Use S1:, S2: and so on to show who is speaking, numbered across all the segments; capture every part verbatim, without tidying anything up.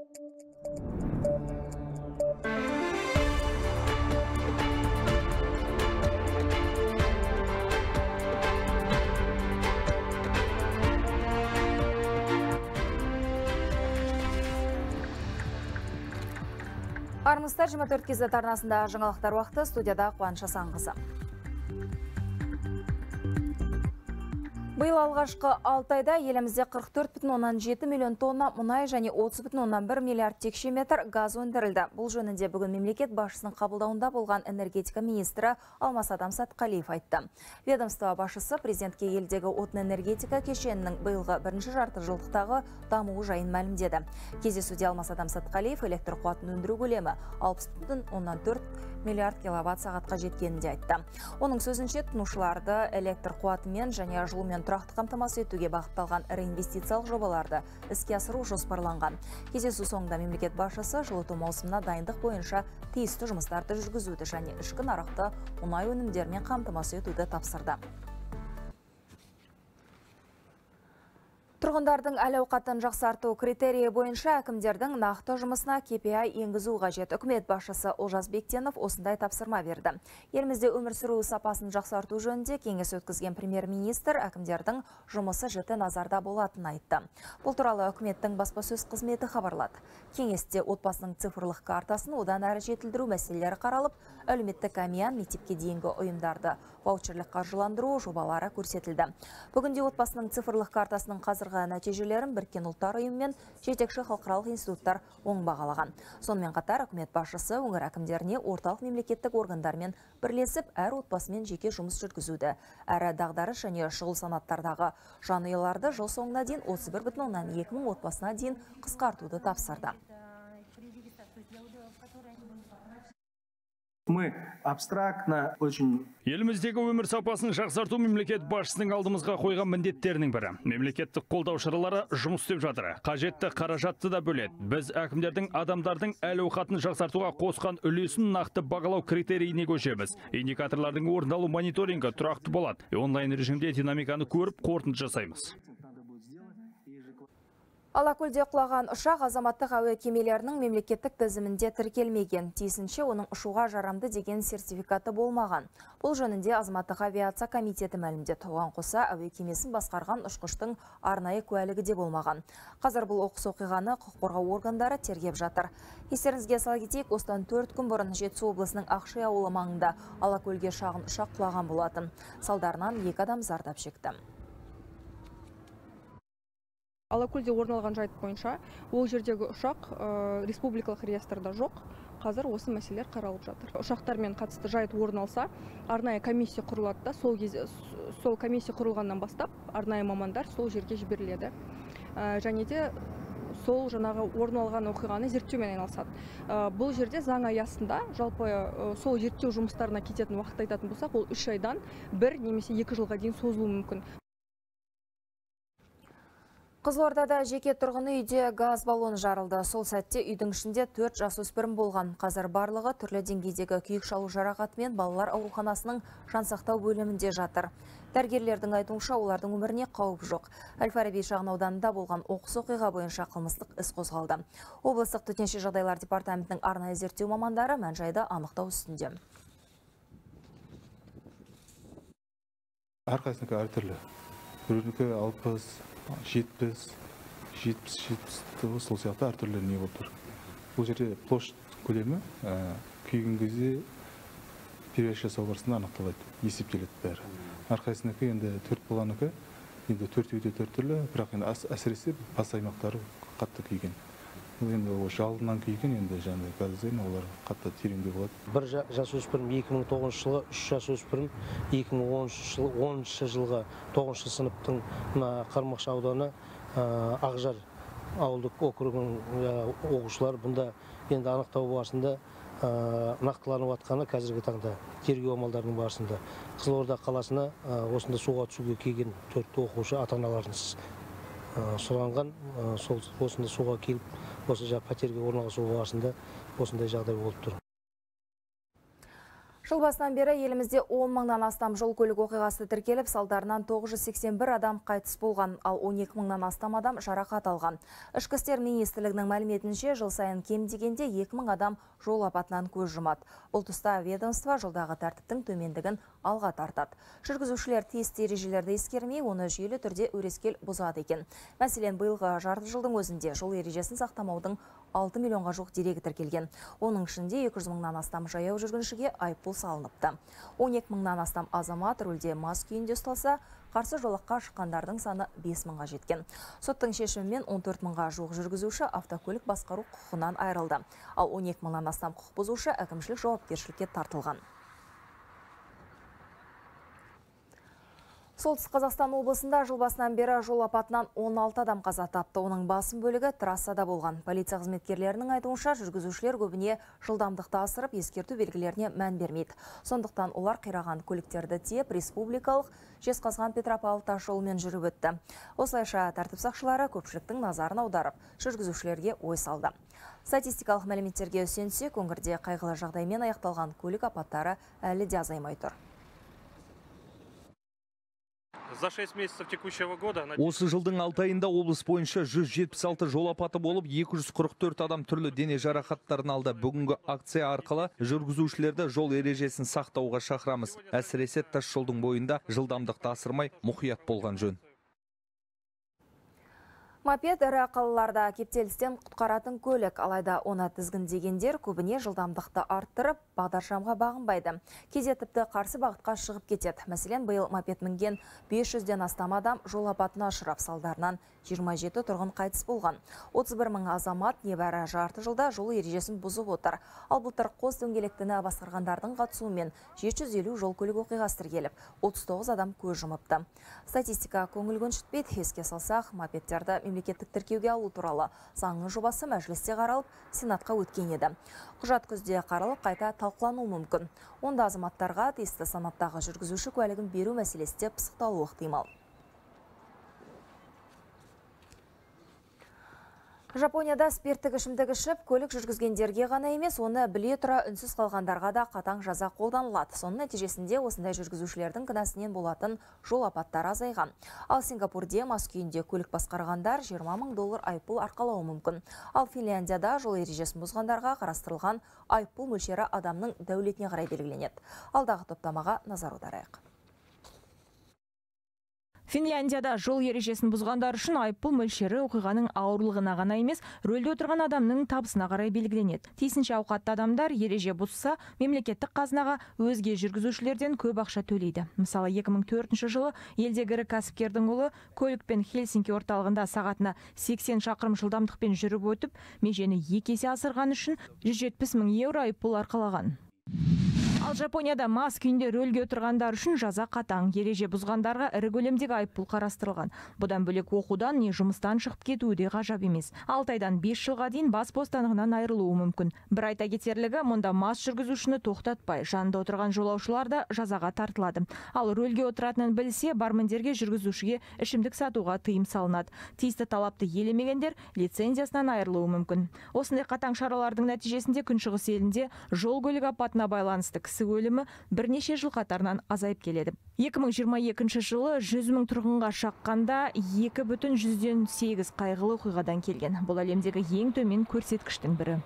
S1: Армысыздар, жиырма төрт кз арнасында жаңалықтар уақыты, студияда Қуаныш Асанқызы. Биыл алғашқы алты айда елімізде қырық төрт бүтін оннан жеті миллион тонна мұнай және отыз бүтін оннан бір миллиард текше метр газ өндірілді. Бұл жөнінде бүгін мемлекет басшысының қабылдауында болған энергетика министрі Алмасадам Сатқалиев айтты. Ведомство басшысы президентке елдегі отын энергетика кешенінің биылғы бірінші жарты жылдықтағы дамуы жайын мәлімдеді. Кездесуде Алмасадам Сатқалиев электр қуатын өндіру көлемі алпыс бүтін оннан төрт миллиард киловатт сағатқа жеткенін де айтты. Оның сөзінше тұтынушыларды электр қуатымен және жылумен тұрақты қамтамасыз етуге бағытталған ірі инвестициялық жобаларды іске асыру жоспарланған. Кездесу соңында мемлекет басшысы жылыту маусымына дайындық бойынша тиісті жұмыстарды жүргізуді және ішкі нарықты мұнай өнімдерімен қамтамасыз етуді тапсырды. Тұрғындардың әл-ауқатын жақсарту критерийі бойынша әкімдердің нақты жұмысына кей пи ай енгізу қажет. Үкімет басшысы Олжас Бектенов осындай тапсырма берді. Елімізде өмір сүру сапасын жақсарту жөнінде кеңес өткізген премьер-министр әкімдердің жұмысы жіті назарда болатынын айтты. Бұл туралы үкіметтің баспасөз қызметі хабарлады. Кеңесте отбасының цифрлық картасын одан әрі жетілдіру мәселелері қаралып, әлеуметтік әмиян, мектепке дейінгі ұйымдарды ваучерлік қаржыландыру жобалары көрсетілді. Бүгінде отбасының цифрлық картасының қазіргі нәтижелерін Біріккен ұлттар ұйымы мен жетекші халықаралық институттар оң бағалаған. Сонымен қатар үкімет басшысы өңір әкімдеріне орталық мемлекеттік органдармен бірлесіп әр отбасымен жеке жұмыс жүргізуді, әрі дағдарыс және шұғыл санаттардағы жанұяларды жыл соңына дейін отыз бір бүтін оннан екі мың отбасына дейін қысқартуды тапсырды.
S2: Мы абстрактно очень...
S3: Еліміздегі өмір сапасын жақсарту мемлекет басшысының алдымызға қойған міндеттерінің бірі. Мемлекеттік қолдау шаралары жұмыс істеп жатыр. Қажетті қаражатты да бөледі. Біз әкімдердің адамдардың әл-ауқатын жақсартуға қосқан үлесін нақты бағалау критерийіне көшеміз. Индикаторлардың орындалу мониторингі тұрақты болады. Онлайн режимде динамиканы көріп, қорытынды жасаймыз.
S1: Алакөлде құлаған ұшақ азаматтық әуе кемелерінің мемлекеттік тізімінде тіркелмеген. Тиісінше оның ұшуға жарамды деген сертификаты болмаған. Бұл жөнінде азаматтық авиация комитеті мәлімдеді. Оған қоса әуе кемесін басқарған ұшқыштың арнайы куәлігі де болмаған. Қазір бұл оқыс оқиғаны құқық қорғау органдары тергеп жатыр. Естеріңізге сала кетейік, осыдан төрт күн бұрын Жетісу облысының Ақши ауылы маңында Алакөлге шағын ұшақ құлаған болатын. Салдарынан екі адам зардап шекті.
S4: Алакөлде орын алған жайт бойынша ол жердегі ұшақ республикалық реестрда жоқ. Қазір осы мәселелер қаралып жатыр. Ұшақтармен қатысты жайт орын алса, арнайы комиссия құрылады да, сол кезде сол комиссия құрылғаннан бастап арнайы мамандар сол жерге жіберіледі. Және де сол жаңағы орын алған оқиғаны зерттеумен айналысады. Бұл жерде заң аясында жалпы сол зерттеу жұмыстарына кететін уақыт айтатын болсақ, ол үш айдан бір немесе екі жылға дейін созылуы мүмкін.
S1: Қызылордада жеке тұрғын үйде газ баллоны жарылды. Сол сәтте үйдің ішінде төрт жасөспірім болған. Қазір барлығы түрлі деңгейдегі күйік шалу жарақатымен балалар ауруханасының жансақтау бөлімінде жатыр. Дәрігерлердің айтуынша олардың өміріне қауіп жоқ. Әл-Фараби шағын ауданында болған оқыс оқиға бойынша қылмыстық іс қозғалды. Облыстық төтенше жағдайлар департаментінің арнайы зерттеу мамандары мән-жайды анықтау үстінде.
S5: Әрқайсынікі әртүрлі. Біреуінікі алпыс, жетпіс, жетпіс, жетпіс, сол сияқты әртүрлі не болып тұр. Бұл жерде площадь көлемі күйген кезде перевес жасау барысында анықталады, есептеледі бәрі. Әрқайсынікі енді төрт баланыкі, енді төртеуі де төрт түрлі, бірақ енді әсіресе бас аймақтары қатты күйген. Енді жалынан күйген, енді жаңағы газден олар қатты тереңде болады.
S6: Бір жасөспірім екі мың тоғызыншы жылғы, үш жасөспірім екі мың оныншы жылғы тоғызыншы сыныптың Қармақшы ауданы Ақжар ауылдық округінің оқушылары бұнда енді анықтау барысында нақтыланып жатқаны қазіргі таңда тергеу амалдарының барысында. Қызылорда қаласына осында суға түсуге келген төрт оқушы ата-аналарынсыз сұранған, осында суға келіп, осы пәтерге орналасу барысында осындай жағдай болып тұр.
S1: Жыл басынан бері елімізде он мыңнан астам жол көлік оқиғасы тіркеліп, салдарынан тоғыз жүз сексен бір адам қайтыс болған, ал он екі мыңнан астам адам жарақат алған. Ішкі істер министрлігінің мәліметінше, жыл сайын кем дегенде екі мың адам жол апатынан көз жұмады. Бұл тұста ведомство жолдағы тәртіптің төмендігін алға тартады. Жүргізушілер тиісті ережелерді ескермей, оны жүйелі түрде өрескел бұзады екен. Мәселен, биылғы жарты жылдың өзінде жол ережесін сақтамаудың алты миллионға жуық дерегі тіркелген. Оның ішінде екі жүз мыңнан астам жаяу жүргіншіге айыппұл салыныпты. он екі мыңнан астам азамат рөлде мас күйінде ұсталса, қарсы жолаққа шыққандардың саны бес мыңға жеткен. Соттың шешімімен он төрт мыңға жуық жүргізуші автокөлік басқару құқығынан айырылды. Ал он екі мыңнан астам құқық бұзушы әкімшілік жауапкершілікке тартылған. Солтүстік Қазақстан облысында жыл басынан бері жол апатынан он алты адам қаза тапты. Оның басым бөлігі трассада болған. Полиция қызметкерлерінің айтуынша, жүргізушілер көбіне жылдамдықты асырып, ескерту белгілеріне мән бермейді. Сондықтан олар қираған көліктерді тиеп, республикалық Жезқазған-Петропавл тас жолымен жүріп өтті. Осылайша тәртіп сақшылары көпшіліктің назарын аударып, жүргізушілерге ой салды. Статистикалық мәліметтерге сүйенсек, өңірде қайғылы жағдаймен аяқталған көлік апаттары әлі де азаймай тұр.
S7: За шесть месяцев текущего года...
S8: Осы жылдың алты айында облыс бойынша жүз жетпіс алты жол апаты болып, екі жүз қырық төрт адам түрлі дене жарақаттарын алды. Бүгінгі акция арқылы жүргізушілерді жол ережесін сақтауға шақырамыз. Әсіресе тас жолдың бойында жылдамдықты асырмай, мұқият болған жөн.
S1: Мопед ірі қалаларда кептелістен құтқаратын көлік, алайда оны тізгіндегендер көбіне жылдамдықты арттырып, бағдаршамға бағынбайды. Кейде тіпті қарсы бағытқа шығып кетеді. Мәселен, биыл мопед мінген бес жүзден астам адам жол апатына ұшырап, салдарынан жиырма жеті тұрғын қайтыс болған. отыз бір мың азамат небәрі жарты жылда жол ережесін бұзып отыр. Ал былтыр қос дөңгелектіні басқарғандардың қатысуымен жеті жүз елу жол көлік оқиғасы тіркеліп, отыз тоғыз адам көз жұмыпты. Статистика көңіл көншітпейді. Еске салсақ, мопедтерді мемлекеттік тіркеуге алу туралы заңның жобасы мәжілісте қаралып, сенатқа өткен еді. Құжат күзде қаралып, қайта талқылануы мүмкін. Онда азаматтарға тиісті санаттағы жүргізуші куәлігін беру мәселесі де пысықталуы ықтимал. Жапонияда спирттік ішімдік ішіп, көлік жүргізгендерге ғана емес, оны біле тұра үнсіз қалғандарға да қатаң жаза қолданылады. Соның нәтижесінде осындай жүргізушілердің кінәсінен болатын жол апаттары азайған. Ал Сингапурде мас күйінде көлік басқарғандар жиырма мың доллар айыппұл арқалауы мүмкін. Ал Финляндияда жол ережесін бұзғандарға қарастырылған айыппұл мөлшері адамның дәулетіне қарай белгіленеді. Алдағы топтамаға назар аударайық.
S9: Финляндияда жол ережесін бұзғандар үшін айыппұл мөлшері оқиғаның ауырлығына ғана емес, рөлде отырған адамның табысына қарай белгіленеді. Тиісінше ауқатты адамдар ереже бұзса, мемлекеттік қазынаға өзге жүргізушілерден көп ақша төлейді. Мысалы, екі мың төртінші жылы елдегі ірі кәсіпкердің ұлы көлікпен Хельсинки орталығында сағатына сексен шақырым жылдамдықпен жүріп өтіп, межені екі есе асырған үшін жүз жетпіс мың еуро айыппұл арқалаған. Ал Жапонияда мас күйінде рөлге отырғандар үшін жаза қатаң. Ереже бұзғандарға ірі көлемдегі айыппұл қарастырылған. Бұдан бөлек оқудан не жұмыстан шығып кетуі де ғажап емес. алты айдан бес жылға дейін бас бостандығынан айырылуы мүмкін. Бір айта кетерлігі, мұнда мас жүргізушіні тоқтатпай, жанында отырған жолаушылар да жазаға тартылады. Ал рөлге отыратынын білсе, бармендерге жүргізушіге ішімдік сатуға тыйым салынады. Тиісті талапты елемегендер лицензиясынан айырылуы мүмкін. Осындай қатаң шаралардың нәтижесінде Күншығыс елінде жол көлік апатына байланысты кісі өлімі бірнеше жыл қатарынан азайып келеді. екі мың жиырма екінші жылы жүз мың тұрғынға шаққанда екі бүтін жүзден сегіз қайғылы оқиғадан келген. Бұл әлемдегі ең төмен көрсеткіштің бірі.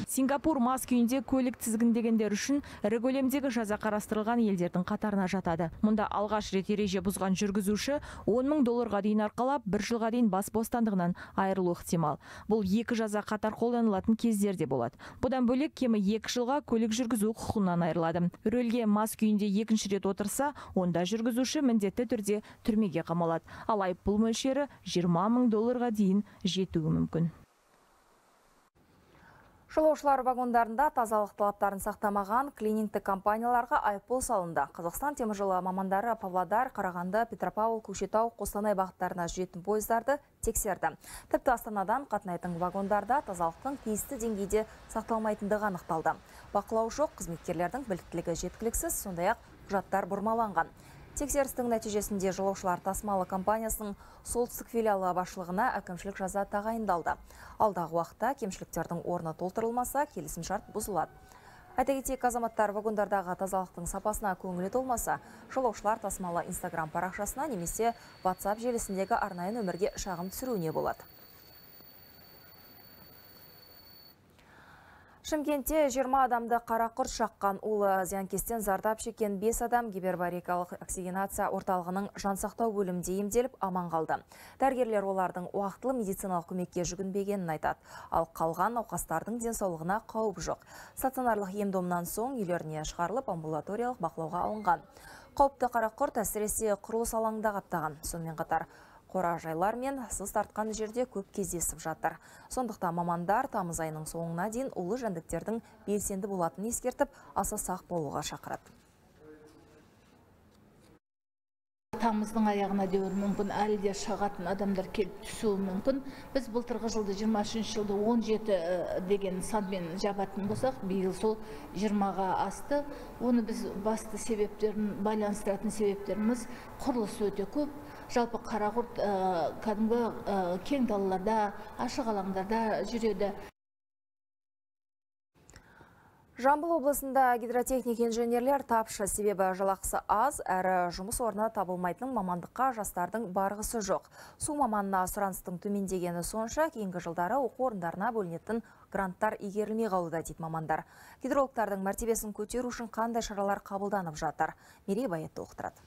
S9: Сингапур мас күйінде көлік тізгіндегендер үшін ірі көлемдегі жаза қарастырылған елдердің қатарына жатады. Мұнда алғаш рет ереже бұзған жүргізуші он мың долларға дейін арқалап, бір жылға дейін бас бостандығынан айырылуы ықтимал. Бұл екі жаза қатар қолданылатын кездерде болады. Бұдан бөлек кемі екі жылға көлік жүргізу құқығынан айырылады. Рөлге мас күйінде екінші рет отырса, онда жүргізуші міндетті түрде түрмеге қамалады. Ал айыппұл мөлшері жиырма мың долларға дейін жетуі мүмкін.
S1: Жолаушылар вагондарында тазалық талаптарын сақтамаған клинингтік компанияларға айыппұл салынды. Қазақстан теміржолы мамандары Павлодар, Қарағанды, Петропавл, Көкшетау, Қостанай бағыттарына жүретін пойыздарды тексерді. Тіпті Астанадан қатынайтын вагондарда тазалықтың тиісті деңгейде сақталмайтындығы анықталды. Бақылау жоқ, қызметкерлердің біліктілігі жеткіліксіз, сондай-ақ құжаттар бұрмаланған. Тексерістің нәтижесінде жолаушылар тасымалы компаниясының солтүстік филиалы басшылығына әкімшілік жаза тағайындалды. Алдағы уақытта кемшіліктердің орны толтырылмаса, келісімшарт бұзылады. Айта кетейік, азаматтар вагондардағы тазалықтың сапасына көңілі толмаса, жолаушылар тасымалы Инстаграм парақшасына немесе WhatsApp желісіндегі арнайы нөмірге шағым түсіруіне болады. Шымкентте жиырма адамды қара құрт шаққан улы зиянкестен зардап шеккен бес адам гипербарикалық оксигенация орталығының жансақтау бөлімінде емделіп аман қалды. Дәрігерлер олардың уақытылы медициналық көмекке жүгінбегенін айтады. Ал қалған науқастардың денсаулығына қауіп жоқ. Стационарлық ем-домнан соң үйлеріне шығарылып амбулаториялық бақылауға алынған. Қауіпті қара құрт әсіресе құрылыс алаңында қаптаған. Сонымен қатар қора-жайлар мен сыз тартқан жерде көп кездесіп жатыр. Сондықтан мамандар тамыз айының соңына дейін улы жәндіктердің белсенді болатынын ескертіп, аса сақ болуға шақырады.
S10: Тамыздың аяғына дейін мүмкін әлі де шығатын адамдар келіп түсуі мүмкін. Біз былтырғы жылды жиырма үшінші жылды он жеті деген санмен жабатын болсақ, биыл сол жиырмаға асты. Оны біз басты себептерін байланыстыратын себептеріміз құрылысы өте көп. Жалпы қара құрт кәдімгі кең далаларда, ашық алаңдарда жүреді.
S1: Жамбыл облысында гидротехник инженерлер тапшы, себебі жалақысы аз, әрі жұмыс орны табылмайтын мамандыққа жастардың барғысы жоқ. Су маманына сұраныстың төмендегені сонша, кейінгі жылдары оқу орындарына бөлінетін гранттар игерілмей қалуда дейді мамандар. Гидрологтардың мәртебесін көтеру үшін қандай шаралар қабылданып жатыр? Мерей Байетті оқытырады.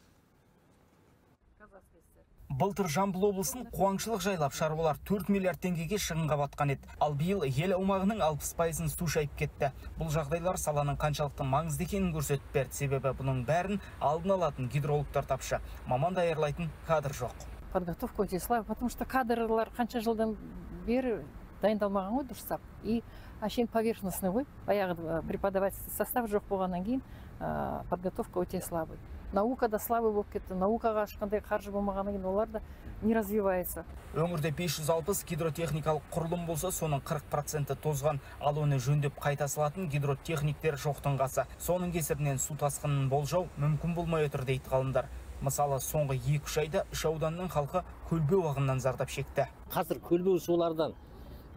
S11: Былтыр Жамбыл облысын қуаңшылық жайлап шаруалар төрт миллиард теңгеге шығынға батқан еді. Ал биыл ел аумағының алпыс пайызын су шайып кетті. Бұл жағдайлар саланың қаншалықты маңызды екенін көрсетіп берді, себебі бұның бәрін алдын алатын гидрологтар тапшы. Маман даярлайтын кадр жоқ.
S12: Подготовка өте слабая, потому что кадрлар қанша жылдан бері дайындалмаған ғой дұрыстап. И әшейін поверхностный ғой. Баяғы преподавательский состав жоқ болғаннан кейін подготовка өте слабый. Наука да слабый болып кетті. Наукаға ешқандай қаржы болмағаннан кейін олар да не развивается.
S11: Өңірде бес жүз алпыс гидротехникалық құрылым болса, соның қырық проценті тозған, ал оны жөндеп қайта салатын гидротехниктер жоқтың қасы. Соның кесірінен су тасқынын болжау мүмкін болмай отыр дейді ғалымдар. Мысалы, соңғы екі үш айда үш ауданның халқы көлбеу ағыннан зардап шекті.
S13: Қазір көлбеу сулардан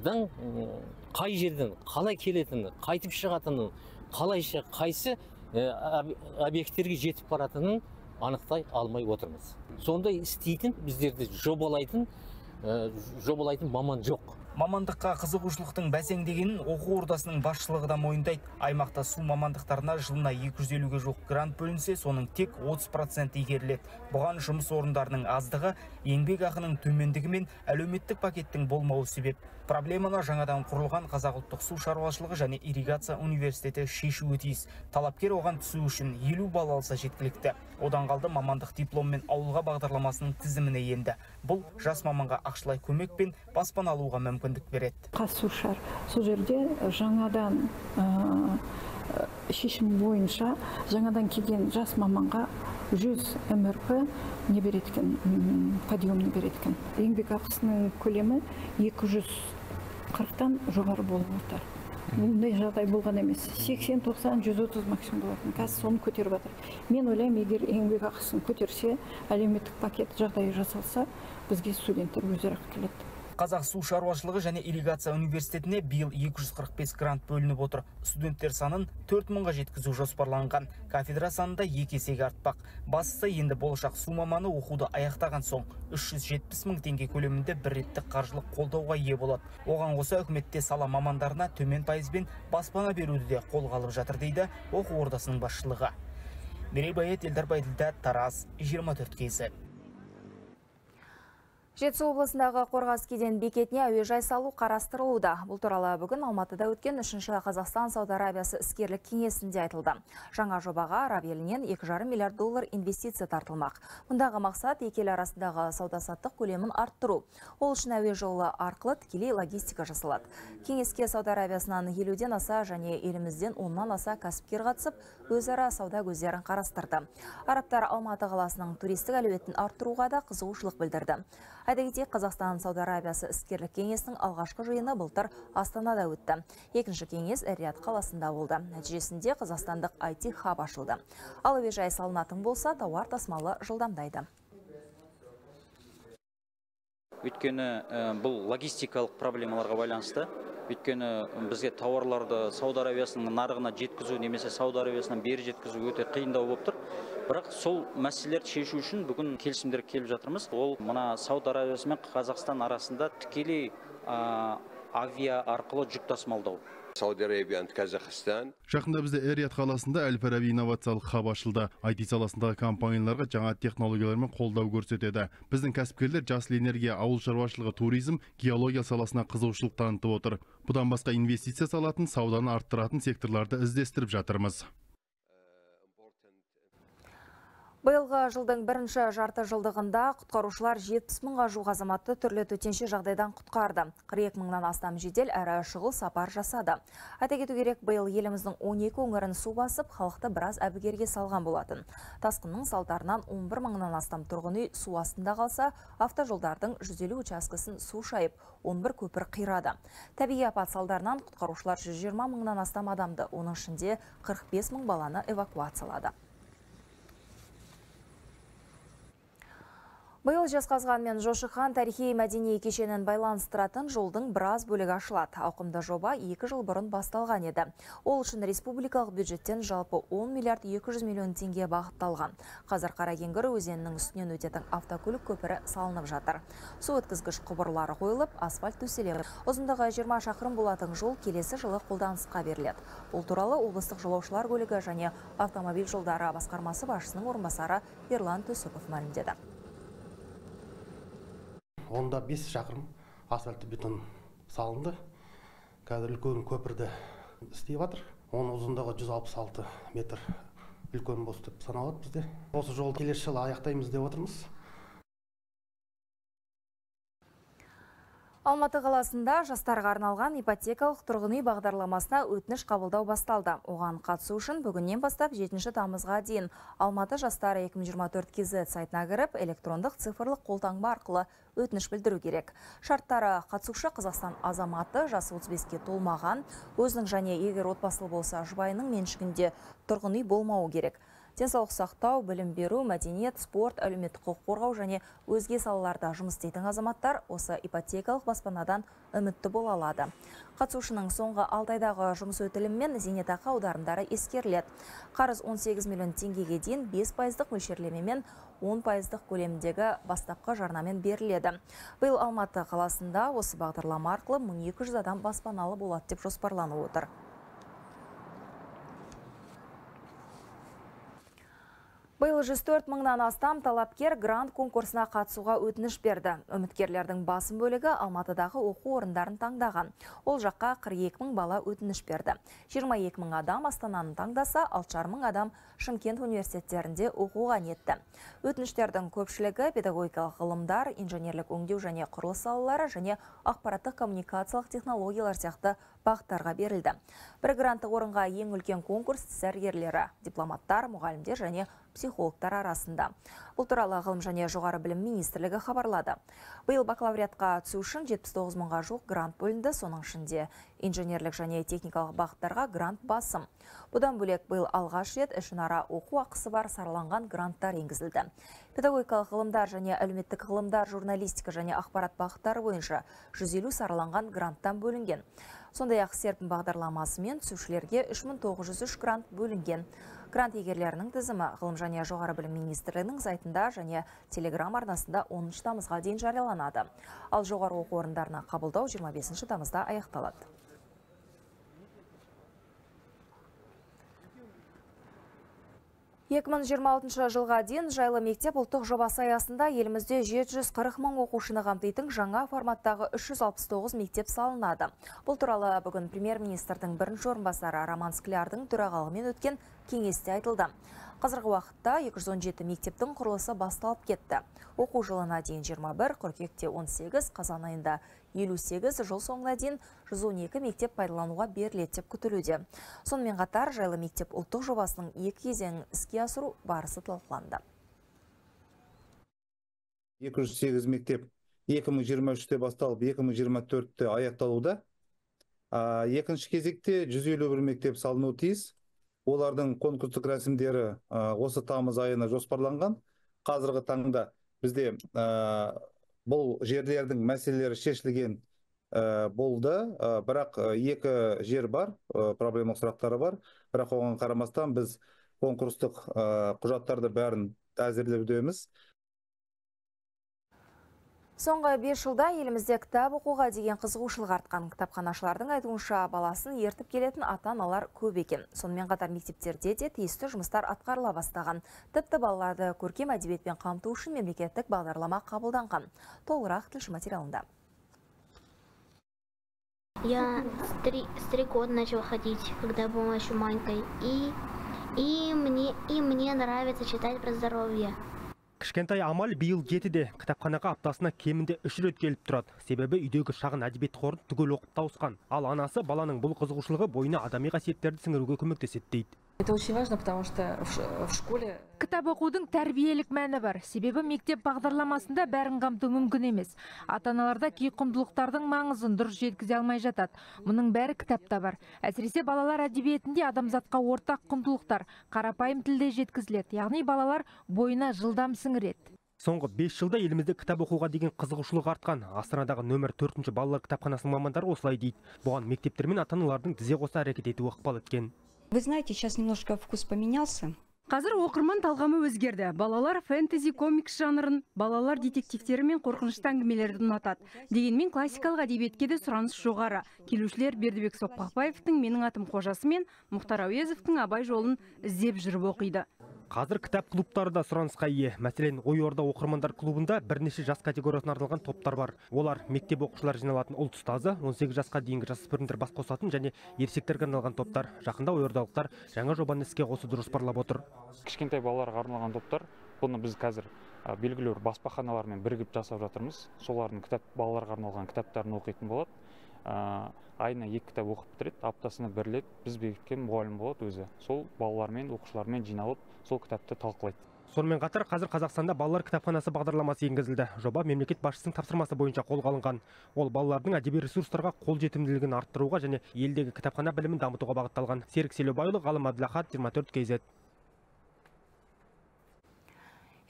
S13: қай жерден қалай келетіні, қайтып шығатынын, қалайша қайсы объекттерге жетіп баратынын анықтай алмай отырмыз. Сондай істейтін, біздерді жобалайтын, жобалайтын маман жоқ.
S11: Мамандыққа қызығушылықтың бәсеңдегенін оқу ордасының басшылығы да мойындайды. Аймақта су мамандықтарына жылына екі жүз елуге жоқ грант бөлінсе, соның тек отыз проценті игеріледі. Бұған жұмыс орындарының аздығы, еңбек ақының төмендігі мен әлеуметтік пакеттің болмауы себеп. Проблеманы жаңадан құрылған Қазақ ұлттық су шаруашылығы және ирригация университеті шешуі тиіс. Талапкер оған түсу үшін елу балл алса жеткілікті. Одан қалды мамандық дипломмен ауылға бағдарламасының тізіміне енді. Бұл жас маманға ақшалай көмек пен баспана алуға мүмкіндік береді.
S14: Қатысушылар сол жерде жаңадан шешім бойынша жаңадан келген жас маманға жүз эм эр пэ не береді екен, подъемный береді екен. Еңбек ақысының көлемі екі жүз қырықтан жоғары болып отыр. Мұндай жағдай болған емес. сексен, тоқсан, жүз отыз максимум болатын. Қазір соны көтеріп жатыр. Мен ойлаймын, егер еңбек ақысын көтерсе, әлеуметтік пакет жағдайы жасалса, бізге студенттер өздері келеді.
S11: Қазақ су шаруашылығы және ирригация университетіне биыл екі жүз қырық бес грант бөлініп отыр. Студенттер санын төрт мыңға жеткізу жоспарланған. Кафедра санында екі есеге артпақ. Бастысы енді болашақ су маманы оқуды аяқтаған соң үш жүз жетпіс мың теңге көлемінде бір реттік қаржылық қолдауға ие болады. Оған қоса үкіметте сала мамандарына төмен пайызбен баспана беруді де қолға алып жатыр дейді оқу ордасының басшылығы. Мерей Байет, Елдар Байділдә, Тараз, жиырма төрт кз.
S1: Жетісу облысындағы Қорғас кеден бекетіне әуежай салу қарастырылуда. Бұл туралы бүгін Алматыда өткен үшінші Қазақстан Сауд Арабиясы іскерлік кеңесінде айтылды. Жаңа жобаға араб елінен екі жарым миллиард доллар инвестиция тартылмақ. Мұндағы мақсат екі ел арасындағы сауда-саттық көлемін арттыру. Ол үшін әуе жолы арқылы тікелей логистика жасалады. Кеңеске Сауд Арабиясынан елуден аса және елімізден оннан аса кәсіпкер қатысып, өзара сауда көздерін қарастырды. Арабтар Алматы қаласының туристік әлеуетін арттыруға да қызығушылық білдірді. Айта кетейік, Қазақстан Сауд Арабиясы іскерлік кеңесінің алғашқы жиыны былтыр Астанада өтті. Екінші кеңес Эр-Рияд қаласында болды. Нәтижесінде қазақстандық ай ти хаб ашылды. Ал әуежай салынатын болса, тауар тасымалы жылдамдайды.
S15: Өйткені бұл логистикалық проблемаларға байланысты Өйткені бізге тауарларды Сауд Арабиясының нарығына жеткізу немесе Сауд Арабиясынан бері жеткізу өте қиындау болып тұр. Бірақ сол мәселелерді шешу үшін бүгін келісімдерге келіп жатырмыз. Ол мына Сауд Арабиясы мен Қазақстан арасында тікелей авиа арқылы жүк тасымалдау.
S16: Жақында бізде Эр-Рияд қаласында Әл-Фараби инновациялық хаб ашылды. ай ти саласындағы компанияларға жаңа технологиялармен қолдау көрсетеді. Біздің кәсіпкерлер жасыл энергия, ауыл шаруашылығы, туризм, геология саласына қызығушылық танытып отыр. Бұдан басқа инвестиция салатын, сауданы арттыратын секторларды іздестіріп жатырмыз.
S1: Биылғы жылдың бірінші жарты жылдығында құтқарушылар жетпіс мыңға жуық азаматты түрлі төтенше жағдайдан құтқарды. қырық екі мыңнан астам жедел әрі шұғыл сапар жасады. Айта кету керек, биыл еліміздің он екі өңірін су басып, халықты біраз әбігерге салған болатын. Тасқынның салдарынан он бір мыңнан астам тұрғын үй су астында қалса, автожолдардың жүз елу учаскесін су шайып, он бір көпір қирады. Табиғи апат салдарынан құтқарушылар жүз жиырма мыңнан астам адамды, оның ішінде қырық бес мың баланы эвакуациялады. Биыл Жезқазған мен Жошыхан тарихи мәдени кешенін байланыстыратын жолдың біраз бөлігі ашылады. Ауқымды жоба екі жыл бұрын басталған еді. Ол үшін республикалық бюджеттен жалпы он миллиард екі жүз миллион теңге бағытталған. Қазір Қаракеңгір өзенінің үстінен өтетін автокөлік көпірі салынып жатыр. Су өткізгіш құбырлары қойылып, асфальт төселеді. Ұзындығы жиырма шақырым болатын жол келесі жылы қолданысқа беріледі. Бұл туралы облыстық жолаушылар көлігі және автомобиль жолдары басқармасы басшысының орынбасары Ерлан Төсіпов мәлімдеді.
S17: Онда бес шақырым асфальтты бетон салынды. Қазір үлкен көпірді істей жатыр. Оның ұзындығы жүз алпыс алты метр үлкен бос деп саналады бізде. Осы жолды келесі жылы аяқтаймыз деп отырмыз.
S1: Алматы қаласында жастарға арналған ипотекалық тұрғын үй бағдарламасына өтініш қабылдау басталды. Оған қатысу үшін бүгіннен бастап жетінші тамызға дейін Алматы жастары екі мың жиырма төрт кз сайтына кіріп, электрондық цифрлық қолтаңба арқылы өтініш білдіру керек. Шарттары: қатысушы Қазақстан азаматы, жасы отыз беске толмаған, өзінің және егер отбасылы болса жұбайының меншігінде тұрғын үй болмауы керек. Денсаулық сақтау, білім беру, мәдениет, спорт, әлеуметтік құқық қорғау және өзге салаларда жұмыс істейтін азаматтар осы ипотекалық баспанадан үмітті бола алады. Қатысушының соңғы алты айдағы жұмыс өтілімі мен зейнетақы аударымдары ескеріледі. Қарыз он сегіз миллион теңгеге дейін бес пайыздық мөлшерлемемен он пайыздық көлемдегі бастапқы жарнамен беріледі. Биыл Алматы қаласында осы бағдарлама арқылы мың екі жүз адам баспаналы болады деп жоспарланып отыр. Биыл жүз төрт мыңнан астам талапкер грант конкурсына қатысуға өтініш берді. Үміткерлердің басым бөлігі Алматыдағы оқу орындарын таңдаған. Ол жаққа қырық екі мың бала өтініш берді. жиырма екі мың адам Астананы таңдаса, алты жарым мың адам Шымкент университеттерінде оқуға ниетті. Өтініштердің көпшілігі педагогикалық ғылымдар, инженерлік өңдеу және құрылыс салалары және ақпараттық коммуникациялық технологиялар сияқты бағыттарға берілді. Бір гранты орынға ең үлкен конкурс сәргерлері, дипломаттар, мұғалімдер және психологтар арасында. Бұл туралы ғылым және жоғары білім министрлігі хабарлады. Биыл бакалавриатқа түсу үшін жетпіс тоғыз мыңға жуық грант бөлінді, соның ішінде инженерлік және техникалық бағыттарға грант басым. Бұдан бөлек биыл алғаш рет ішінара оқу ақысы бар сараланған гранттар енгізілді. Педагогикалық ғылымдар және әлеуметтік ғылымдар, журналистика және ақпарат бағыттары бойынша жүз елу сараланған гранттан бөлінген. Сондай-ақ серпін бағдарламасымен түсушілерге үш мың тоғыз жүз үш грант бөлінген. Грант егерлерінің тізімі ғылым және жоғары білім министрлігінің сайтында және телеграм арнасында оныншы тамызға дейін жарияланады. Ал жоғары оқу орындарына қабылдау жиырма бесінші тамызда аяқталады. екі мың жиырма алтыншы жылға дейін жайлы мектеп ұлттық жобасы аясында елімізде жеті жүз қырық мың оқушыны қамтитын жаңа форматтағы үш жүз алпыс тоғыз мектеп салынады. Бұл туралы бүгін премьер-министрдің бірінші орынбасары Роман Склярдың төрағалығымен өткен кеңесте айтылды. Қазіргі уақытта екі жүз он жеті мектептің құрылысы басталып кетті. Оқу жылына дейін жиырма бір, қыркүйекте он сегіз, қазан айында елу сегіз, жыл соңына дейін жүз он екі мектеп пайдалануға беріледі деп күтілуде. Сонымен қатар жайлы мектеп ұлттық жобасының екі кезеңін іске асыру барысы талқыланды.
S18: екі жүз сегіз мектеп екі мың жиырма үште басталып, екі мың жиырма төртте аяқталуда. Екінші кезекте жүз елу бір мектеп салынуы тиіс. Олардың конкурстық рәсімдері осы тамыз айына жоспарланған. Қазіргі таңда бізде бұл жерлердің мәселелері шешілген болды, бірақ екі жер бар, проблемалық сұрақтары бар. Бірақ оған қарамастан біз конкурстық құжаттарды бәрін әзірлеудеміз.
S1: Соңғы бес жылда елімізде кітап оқуға деген қызығушылық артқан. Кітапханашылардың айтуынша баласын ертіп келетін ата-аналар көп екен. Сонымен қатар мектептерде де тиісті жұмыстар атқарыла бастаған. Тіпті балаларды көркем әдебиетпен қамту үшін мемлекеттік бағдарлама қабылданған. Толығырақ тілші материалында.
S19: Я с три, с три года начала ходить, когда была еще маленькой. И, и, мне, и мне нравится читать про здоровье.
S20: Кішкентай Амал биыл жетіде, кітапханаға аптасына кемінде үш рет келіп тұрады. Себебі үйдегі шағын әдебиет қорын түгел оқып тауысқан. Ал анасы баланың бұл қызығушылығы бойына адами қасиеттерді сіңіруге көмектеседі дейді.
S21: Это очень важно, потому что в школе...
S22: Кітап оқудың тәрбиелік мәні бар. Себебі мектеп бағдарламасында бәрін қамту мүмкін емес. Ата-аналарда кей құндылықтардың маңызын дұрыс жеткізе алмай жатады. Мұның бәрі кітапта бар. Әсіресе балалар әдебиетінде адамзатқа ортақ құндылықтар қарапайым тілде жеткізіледі. Яғни балалар бойына жылдам сіңіреді.
S20: Соңғы бес жылда елімізде кітап оқуға деген қызығушылық артқан. Астанадағы нөмір төртінші балалар кітапханасының мамандары осылай дейді. Бұған мектептер мен ата-аналардың тізе қоса әрекет етуі ықпал еткен.
S23: Вы знаете, сейчас немножко вкус поменялся.
S24: Қазір оқырман талғамы өзгерді. Балалар фэнтези комикс жанрын, балалар детективтері мен қорқынышты әңгімелерді ұнатады. Дегенмен классикалық әдебиетке де сұраныс жоғары. Келушілер Бердібек Соқпақбаевтың Менің атым қожасы мен Мұхтар Әуезовтың Абай жолын іздеп жүріп оқиды.
S20: Қазір кітап клубтары да сұранысқа ие. Мәселен, Ой Орда оқырмандар клубында бірнеше жас категориясына арналған топтар бар. Олар мектеп оқушылар жиналатын ұлт ұстазы, он сегіз жасқа дейінгі жасөспірімдер бас қосатын және ересектерге арналған топтар. Жақында Ой Ордалықтар жаңа жобаны іске қосуды жоспарлап отыр.
S25: Кішкентай балаларға арналған топтар, бұны біз қазір белгілі бір баспаханалармен бірігіп жасап жатырмыз. Солардың кітап балаларға арналған кітаптарын оқитын болады. Айына екі кітап оқып бітіреді, аптасына бір рет біз бекіткен мұғалім болады өзі. Сол балалармен, оқушылармен жиналып, сол кітапты талқылайды.
S20: Сонымен қатар қазір Қазақстанда балалар кітапханасы бағдарламасы енгізілді. Жоба мемлекет басшысының тапсырмасы бойынша қолға алынған. Ол балалардың әдеби ресурстарға қол жетімділігін арттыруға және елдегі кітапхана білімін дамытуға бағытталған. Серік Селеубайұлы, Ғалым Әбділахат, жиырма төрт кей зет.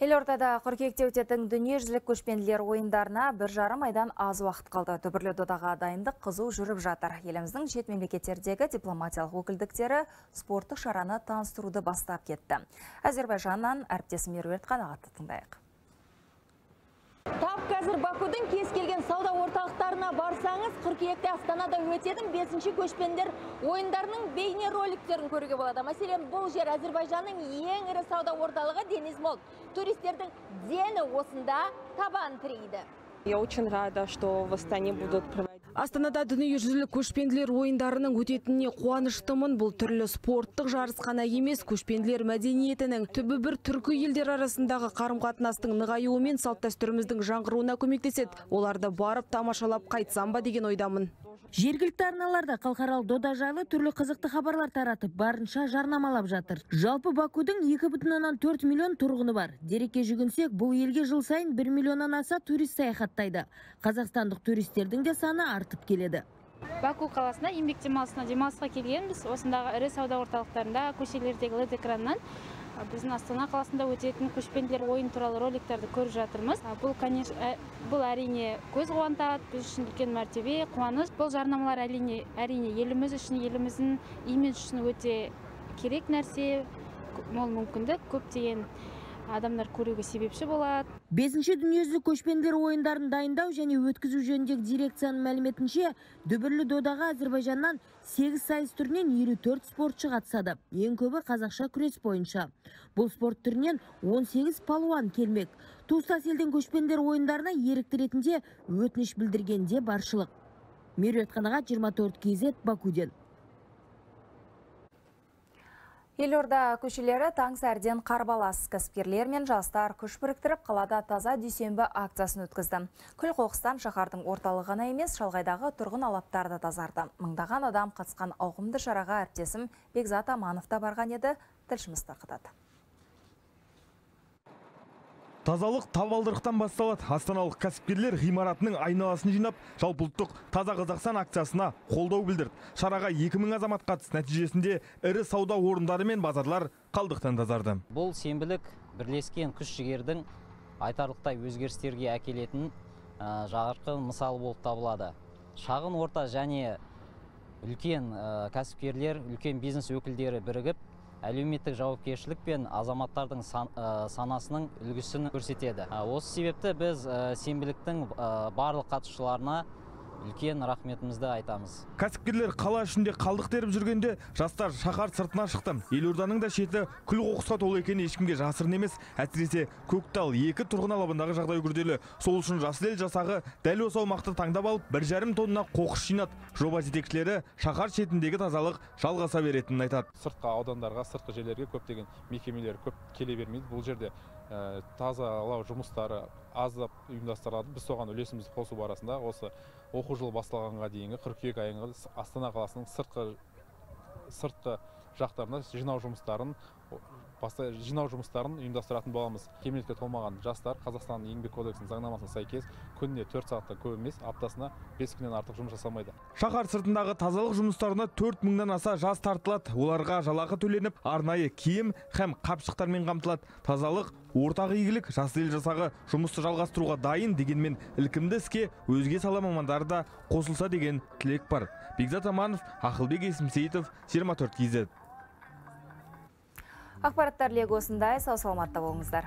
S1: Елордада қыркүйекте өтетін дүниежүзілік көшпенділер ойындарына бір жарым айдан аз уақыт қалды. Дүбірлі додаға дайындық қызу жүріп жатыр. Еліміздің шет мемлекеттердегі дипломатиялық өкілдіктері спорттық шараны таныстыруды бастап кетті. Әзербайжаннан әріптесім Меруерт Қанағатты тыңдайық.
S26: Тап қазір Бакудың кез келген сауда орталықтарына барсаңыз, қыркүйекте Астанада өтетін бесінші көшпенділер ойындарының бейне роликтерін көруге болады. Мәселен, бұл жер Әзербайжанның ең ірі сауда орталығы Дениз Молл. Туристердің дені осында табан тірейді.
S27: Я очень рада, что в Астане будут проводить.
S22: Астанада дүниежүзілік көшпенділер ойындарының өтетініне қуаныштымын. Бұл түрлі спорттық жарыс қана емес, көшпенділер мәдениетінің түбі бір түркі елдер арасындағы қарым-қатынастың нығаюы мен салт-дәстүріміздің жаңғыруына көмектеседі. Оларды барып тамашалап қайтсам ба деген ойдамын.
S28: Жергілікті арналарда халықаралық дода жайлы түрлі қызықты хабарлар таратып, барынша жарнамалап жатыр. Жалпы Бакудың екі бүтін оннан төрт миллион тұрғыны бар. Дерекке жүгінсек, бұл елге жыл сайын бір миллионнан аса турист саяхаттайды. Қазақстандық туристердің де саны артып келеді.
S29: Баку қаласына еңбек демалысына демалысқа келгенбіз. Осындағы ірі сауда орталықтарында көшелердегі лед экраннан біздің Астана қаласында өтетін көшпенділер ойын туралы роликтерді көріп жатырмыз. Бұл, конечно, бұл әрине көз қуантады, біз үшін үлкен мәртебе, қуаныш. Бұл жарнамалар әрине, әрине еліміз үшін, еліміздің имидж үшін өте керек нәрсе, мол мүмкіндік, көптеген адамдар көруге себепші болады.
S28: Бесінші дүниежүзілік көшпенділер ойындарын дайындау және өткізу жөніндегі дирекцияның мәліметінше, дүбірлі додаға Әзербайжаннан сегіз сайыс түрінен елу төрт спортшы қатысады. Ең көбі қазақша күрес бойынша. Бұл спорт түрінен он сегіз палуан келмек. Туыстас елден көшпенділер ойындарына ерікті ретінде өтініш білдіргенде баршылық. Меруерт Қанағат, жиырма төрт кей зет, Бакуден.
S1: Елорда көшелері таң сәрден қарбалас. Кәсіпкерлер мен жастар күш біріктіріп, қалада таза дүйсенбі акциясын өткізді. Күл қоқыстан шаһардың орталығы ғана емес, шалғайдағы тұрғын алаптарды тазарды. Мыңдаған адам қатысқан ауқымды шараға әріптесім Бекзат Аманов та барған еді, тілшіміз тарқатады.
S3: Тазалық табалдырықтан басталады. Астаналық кәсіпкерлер ғимаратының айналасын жинап, жалпыұлттық таза Қазақстан акциясына қолдау білдірді. Шараға екі мың азамат қатысты. Нәтижесінде ірі сауда орындары мен базарлар қалдықтан тазарды.
S30: Бұл сенбілік бірлескен күш-жігердің айтарлықтай өзгерістерге әкелетін жарқын мысалы болып табылады. шағын орта және үлкен кәсіпкерлер, үлкен бизнес өкілдері бірігіп, әлеуметтік жауапкершілік пен азаматтардың санасының үлгісін көрсетеді. Осы себепті біз сенбіліктің барлық қатысушыларына үлкен рахметімізді айтамыз.
S3: Кәсіпкерлер қала ішінде қалдық теріп жүргенде жастар шаһар сыртына шықты. Елорданың да шеті күл қоқысқа толы екені ешкімге жасырын емес. Әсіресе Көктал екі тұрғын алабындағы жағдай күрделі. Сол үшін Жасыл ел жасағы дәл осы аумақты таңдап алып, бір жарым тонна қоқыс жинады. Жоба жетекшілері шаһар шетіндегі тазалық жалғаса беретінін айтады.
S2: Сыртқы аудандарға, сыртқы жерлерге көптеген мекемелер көп келе бермейді. Бұл жерде тазалау жұмыстары аздап ұйымдастырылады. Біз соған үлесімізді қосу барысында осы оқу жылы басталғанға дейінгі қыркүйек айында Астана қаласының сыртқы сыртқы жақтарына жинау жұмыстарын жинау жұмыстарын ұйымдастыратын боламыз. Кәмелетке толмаған жастар Қазақстанның еңбек кодексінің заңнамасына сәйкес күніне төрт сағаттан көп емес, аптасына бес күннен артық жұмыс жасамайды.
S3: Шаһар сыртындағы тазалық жұмыстарына төрт мыңнан аса жас тартылады. Оларға жалақы төленіп, арнайы киім һәм қапшықтармен қамтылады. Тазалық ортақ игілік. Жасыл ел жасағы жұмысты жалғастыруға дайын, дегенмен ілкімді іске өзге сала мамандары да қосылса деген тілек бар. Бекзат Аманов, Ақылбек Есімсейітов, жиырма төрт кз.
S1: Ақпараттар легі осындай, сау саламатта болыңыздар.